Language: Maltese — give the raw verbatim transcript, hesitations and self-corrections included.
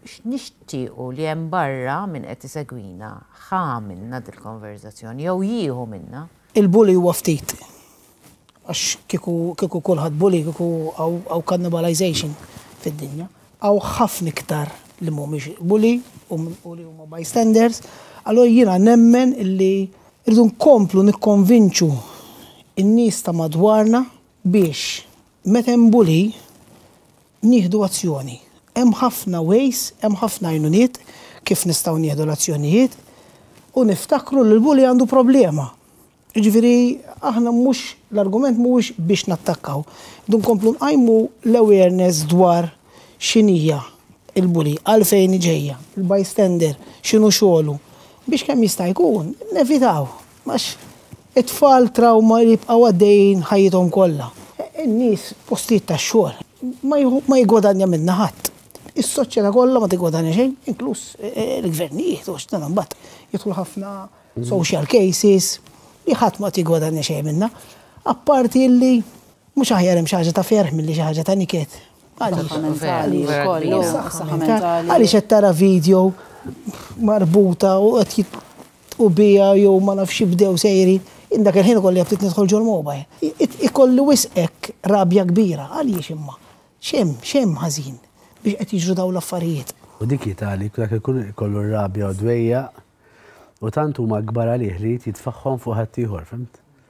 X'nixtiequ li hemm barra minn qed isegwina ħa minna dil-konverzazzjoni jew jieħu minna? Il-bully huwa ftit. Għax kieku kieku kulħadd bully, kieku hawn cannibalization fid-dinja. Hawn ħafna iktar li mhumiex bully u li huma bystanders. Allora jiena nemmen illi rridu nkomplu nikkonvinċu in-nies ta' madwarna biex meta hemm bully nieħdu azzjoni. Hemm ħafna ways, hemm ħafna għajnuniet kif nistgħu nieħdu l-azzjonijiet u niftakru li l-bully għandu problema. Ġifieri, aħna mhux, l-argument mhuwiex biex nattakkaw. Dun komplu nqajmu l-awareness dwar x'inhija il-bully, għalfejn ġejja, il-bystander, x'inhu xogħlu, biex kemm jista' jkun nevitaw. Għax it-tfal trauma li jibqgħu għaddejjin ħajjithom kollha. In-nies, postijiet tax-xogħol, ma jigwadanja minna ħadd. Is-soċjetà kollha ma tigwadanja xejn, inkluż il-gvernijiet, u x'dan mbagħad jidħlu ħafna social cases li ħadd ma tigwadanja xejn minna. Apparti li mhux aħjar hemm xi ħaġa ta' ferħ milli xi ħaġa ta' niket. Għaliex qed tara video marbuta u qed u bija jew ma nafx jibdew sejrin, indak il-ħin ikolli ftit nidħol ġol mobile. Ikolli wisq rabja kbira, għaliex imma? X'hemm, x'hemm ħażin biex qed jiġru dawn l-affarijiet? U dik jitali, dak ikun ikollu rabja u dwejja u tant huma kbar għalih li jitfaħħom fuq ħaddieħor, fhimt?